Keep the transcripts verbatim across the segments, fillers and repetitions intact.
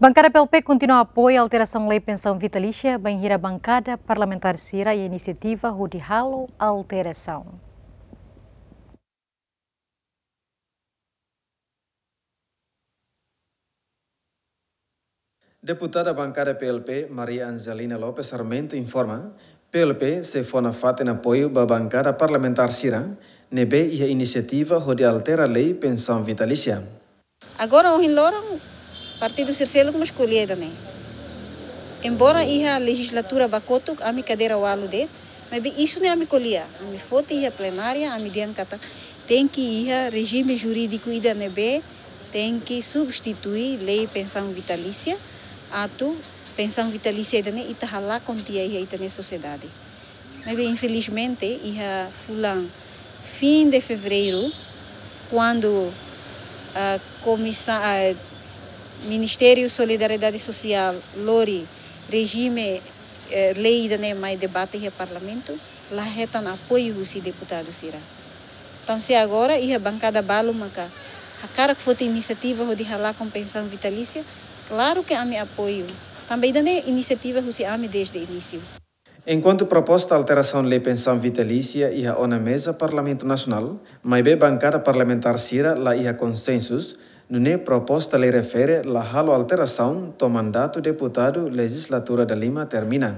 Bankada P L P kontinua apoiu alterasaun lei pensaun vitalísia, bainhira bankada parlamentár sira iha inisiativa hodi halo alterasaun. Deputada bankada P L P, Maria Angelina Lopes Sarmento, informa, P L P sei fó nafatin apoiu ba bankada parlamentár sira ne'ebé iha inisiativa hodi altera lei pensaun vitalísia. Agora, ohin loron, partidu sira seluk mós ko'alia ida-ne'e. Embora iha lejizlatura ba kotuk, ami kadeira ualu de'it, maibé isu ne'e ami ko'alia, ami foti iha plenária, ami dehan katak tenke iha rejime jurídiku ida ne'ebé tenke substitui lei pensaun vitalísia, atu pensaun vitalísia ida-ne'e ita halakon tiha iha ita-nia sosiedade. Maibé, infelizmente, iha fulan fin de fevereiru, kuandu, ah, komisa-, ah, Ministériu Solidariedade Sosiál lori rejime, eh, lei ida-ne'e mai debate iha Parlamentu, la hetan apoiu husi deputadu sira. Entaun, se agora iha bankada balu maka hakarak foti inisiativa hodi halakon pensaun vitalísia, klaru ke ami apoiu. Tanba ida-ne'e inisiativa husi ami dezde inísiu. Enkuantu proposta alterasaun lei pensaun vitalísia iha ona meza Parlamentu Nasionál, maibé bankada parlamentár sira la iha konsensus, nune'e proposta lei refere la halo alterasaun to'o mandatu deputadu lejizlatura dalima termina.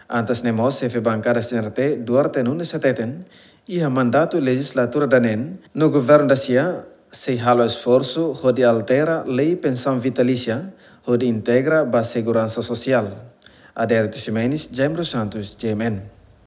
Antes ne'e mós, xefe bankada C N R T, Duarte Nunes hateten, iha mandatu lejizlatura daneen, no governu da-sia sei halo esforsu hodi altera lei pensaun vitalísia, hodi integra ba seguransa sosiál. Adérito Ximenes, Jaime dos Santos, J M N.